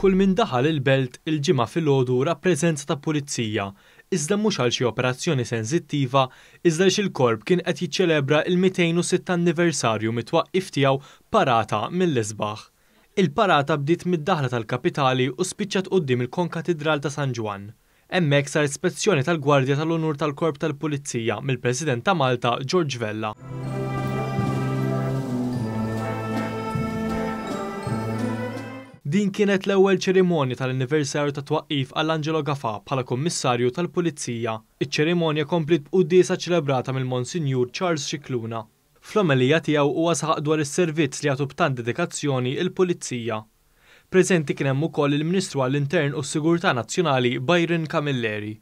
Kull min daħal il-Belt il-Ġimgħa filgħodu ra preżenza ta' pulizija, iżda mhux għal xi operazzjoni sensittiva iżda għaliex il-Korp kien qed jiċċelebra l-206 anniversarju mit-twaqqif tiegħu b'parata mill-isbaħ. Il-parata bdiet mid-daħla tal-kapitali u spiċċat quddiem il-Konkatidral ta' San Ġwann. Hemmhekk saret spezzjoni tal-Gwardja tal-Unur tal-Korp tal-Pulizija mill-President ta' Malta George Vella. Din kienet l-ewwel ċerimonja tal-anniversarju tat-twaqqif għal Angelo Gafà bħala Kummissarju tal-Pulizija. Iċ-ċerimonja kompliet b'quddiesa ċċelebrata mill-Monsinjur Charles Scicluna. Fl-omelija tiegħu huwa saħaq dwar is-servizz li jagħtu b'tant dedikazzjoni l-Pulizija. Preżenti kien hemm ukoll il-Ministru għall-Intern u s-Sigurtà Nazzjonali Byron Camilleri.